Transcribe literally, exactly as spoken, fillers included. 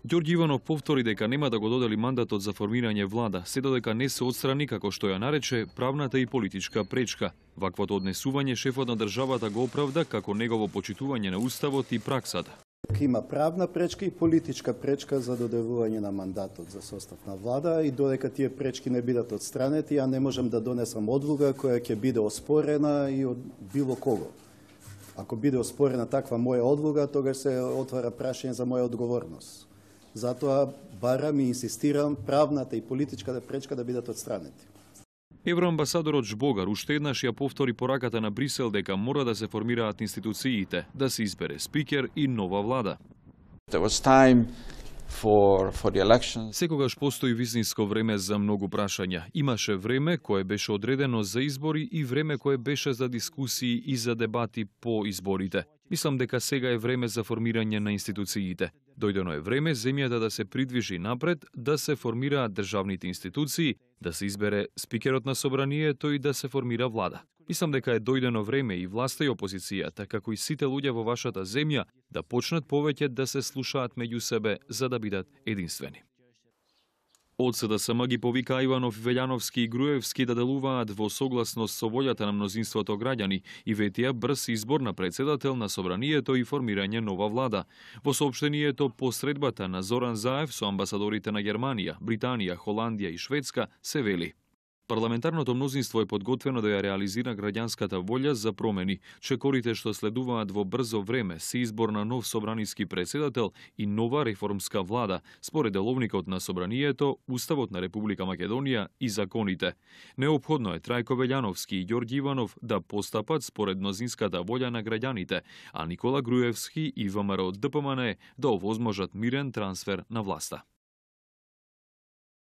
Ѓорѓи Иванов повтори дека нема да го додели мандатот за формирање влада, се додека не се отстрани, како што ја нарече, правната и политичка пречка. Ваквото однесување шефот на државата го оправда како негово почитување на уставот и праксата. Има правна пречка и политичка пречка за доделување на мандатот за состав на влада и додека тие пречки не бидат отстранети, ја не можам да донесам одлука која ќе биде оспорена и од било кого. Ако биде оспорена таква моја одлука, тогаш се отвара прашање за моја одговорност. Затоа барам и инсистирам правната и политичката пречка да бидат отстранети. Евроамбасадорот Жбогар уште еднаш ја повтори пораката на Брисел дека мора да се формираат институциите, да се избере спикер и нова влада. For, for the elections. Секогаш постои вистинско време за многу прашања. Имаше време кое беше одредено за избори и време кое беше за дискусии и за дебати по изборите. Мислам дека сега е време за формирање на институциите. Дојдено е време земјата да се придвижи напред, да се формираат државните институции, да се избере спикерот на собранието и да се формира влада. Мислам дека е дојдено време и власта и опозицијата, како и сите луѓе во вашата земја, да почнат повеќе да се слушаат меѓу себе за да бидат единствени. Од СДСМ ги повика Иванов, Велјановски и Груевски да делуваат во согласност со волјата на мнозинството граѓани и ветија брз избор на председател на собранието и формирање нова влада. Во соопштението по средбата на Зоран Заев со амбасадорите на Германија, Британија, Холандија и Шведска се вели: парламентарното мнозинство е подготвено да ја реализира граѓанската волја за промени. Чекорите што следуваат во брзо време се избор на нов собраниски председател и нова реформска влада, според деловникот на собранието, Уставот на Република Македонија и законите. Неопходно е Трајко Велјановски и Ѓорѓи Иванов да постапат според мнозинската волја на граѓаните, а Никола Груевски и ВМРО ДПМН да овозможат мирен трансфер на власта.